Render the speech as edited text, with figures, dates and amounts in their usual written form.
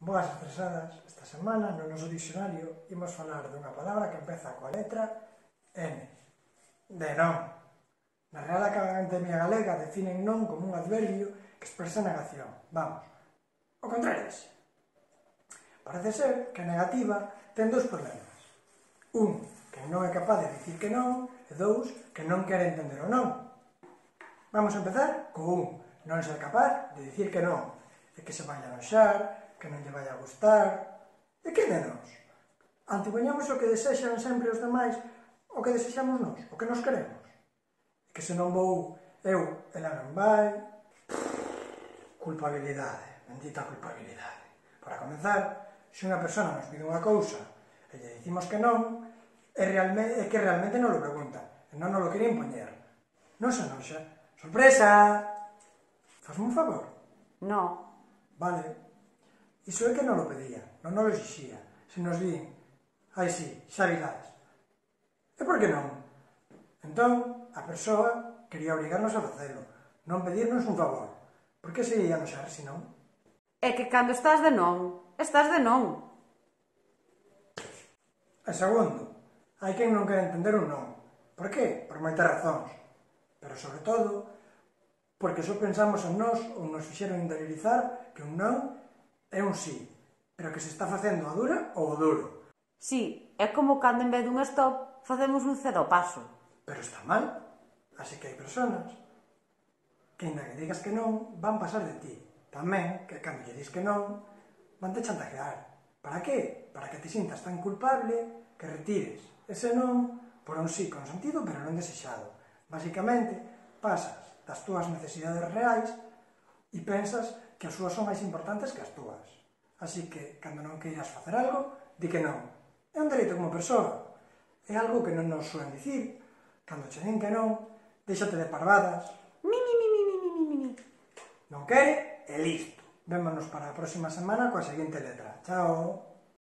Boas estresadas, esta semana no noso dicionario imos falar dunha palabra que empeza coa letra N, de non. Na Real Academia Galega definen non como un adverbio que expresa negación. Vamos, o contrario dese. Parece ser que a negativa ten dous problemas. Un, que non é capaz de dicir que non, e dous, que non quere entender o non. Vamos a empezar co un, non ser capaz de dicir que non, e que se vai a noxar, que non lle vai a gustar. E que de nós? Antipoñamos o que desexan sempre os demais, o que desexamos nós, o que nos queremos. E que se non vou eu, ela non vai. Culpabilidade, bendita culpabilidade. Para comenzar, se unha persona nos pide unha cousa e lle dicimos que non, é que realmente non lo pregunta, e non nos lo quere impoñer. Non se noxa. Sorpresa! Fasme un favor? No. Vale. Iso é que non lo pedía, non lo exixía. Se nos din, ai sí, xa virás. E por que non? Entón, a persoa quería obrigarnos a facelo, non pedirnos un favor. Por que se ia noxar, se non? É que cando estás de non, estás de non. E segundo, hai quen non quere entender un non. Por que? Por moitas razóns. Pero sobre todo, porque só pensamos en nós ou nos fixeron interiorizar que un non é un sí, pero que se está facendo a dura ou o duro. Sí, é como cando en vez dun stop facemos un cedo ao paso. Pero está mal. Así que hai personas que, ainda que digas que non, van pasar de ti. Tamén, que cando lle dis que non, van te chantajear. Para qué? Para que te sintas tan culpable que retires ese non por un sí consentido pero non desexado. Basicamente, pasas das túas necesidades reais e pensas que as súas son máis importantes que as túas. Así que, cando non queiras facer algo, di que non. É un dereito como persoa. É algo que non nos suelen dicir. Cando che din que non, déxate de parvadas. Mi. Non quere, e listo. Vémonos para a próxima semana coa seguinte letra. Chao!